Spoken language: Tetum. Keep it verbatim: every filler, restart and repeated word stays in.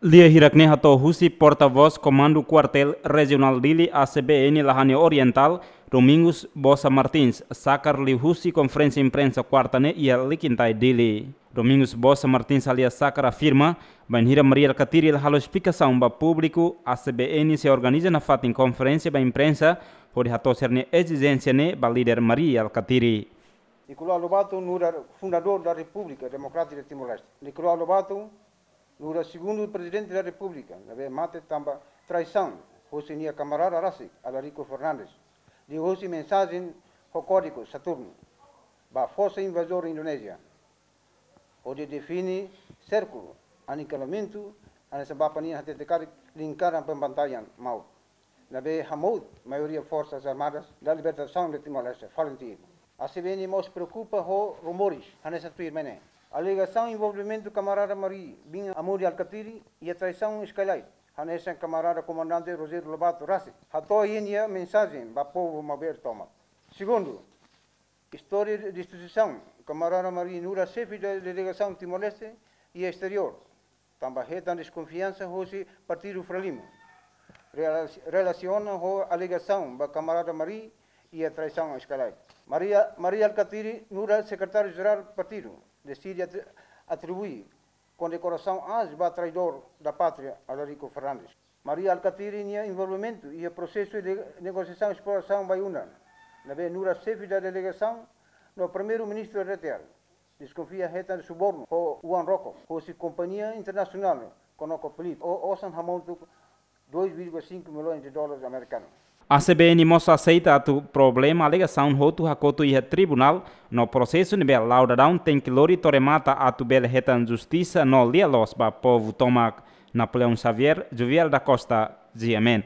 Lia hirak ne'e hato'o husi portavós Komandu Kuartél Rejionál Dili, A C B N Lahane Orientál, Domingos Bosa Martins, sakar liuhusi konferénsia imprensa kuarta ne'e iha Likintai, Dili. Domingos Bosa Martins alias Sakar afirma, bainhira Mari Alkatiri la halo esplikasaun ba públiku, A C B N sei organiza nafatin konferénsia ba imprensa, hodi hato'o sira-nia ezijénsia ne'e ba líder Mari Alkatiri. Nicolau Lobato, nu'udar fundadór da Repúblika Demokrátika de Timor-Leste. Nicolau Lobato, nu'udar segundu Prezidente da Repúblika, ne'ebé mate tanba traisaun hosi nia kamarada rasik, Alarico Fernandes, liuhusi mensajen ho kódigu Saturno ba forsa invazór Indonézia, hodi define sérkulo anikelamentu, hanesan bapa nian hatete karik lingkaran pembantaian maut, ne'ebé hamout maioria Forsas Armadas da Libertasaun de Timor-Leste, FALINTIL. A C B N mós preokupa ho rumores hanesan tuirmai ne'e. Alegasaun envolvimentu kamarada Mari bin Amuri Alkatiri iha traisaun Skylight, hanesan kamarada komandante Rogério Lobato rasik hato'o iha nia mensajen ba povu maubere tomak. Segundu, istória destruisaun kamarada Mari nu'udar xefe da delegasaun Timor-Leste iha esteriór, tanba hetan deskonfiansa hosi partidu Frelimo, rela-, relasiona ho alegasaun ba kamarada Mari iha traisaun Skylight. Mari, Mari Alkatiri, nu'udar sekretáriu jerál partidu, deside atri-, atribui kondekorasaun aas ba traidór da pátria, Alarico Fernandes. Mari Alkatiri nia envolvimentu iha prosesu de negosiasaun esplorasaun Bayu-Undan, ne'ebé nu'udar xefe da delegasaun no Primeiru-Ministru R T R, deskonfia hetan subornu ho oan rokok hosi kompañia internasionál ConocoPhillips, ho osan hamontu dois vírgula cinco milhões de dólares americanos. A C B N mós aseita atu problema alegasaun hotu hakotu iha tribunál, no prosesu ne'ebé la'o daudaun tenke lori to'o remata atu bele hetan justisa no lia-loos ba povu tomak. Napoleão Xavier, Jovial da Costa, G M N.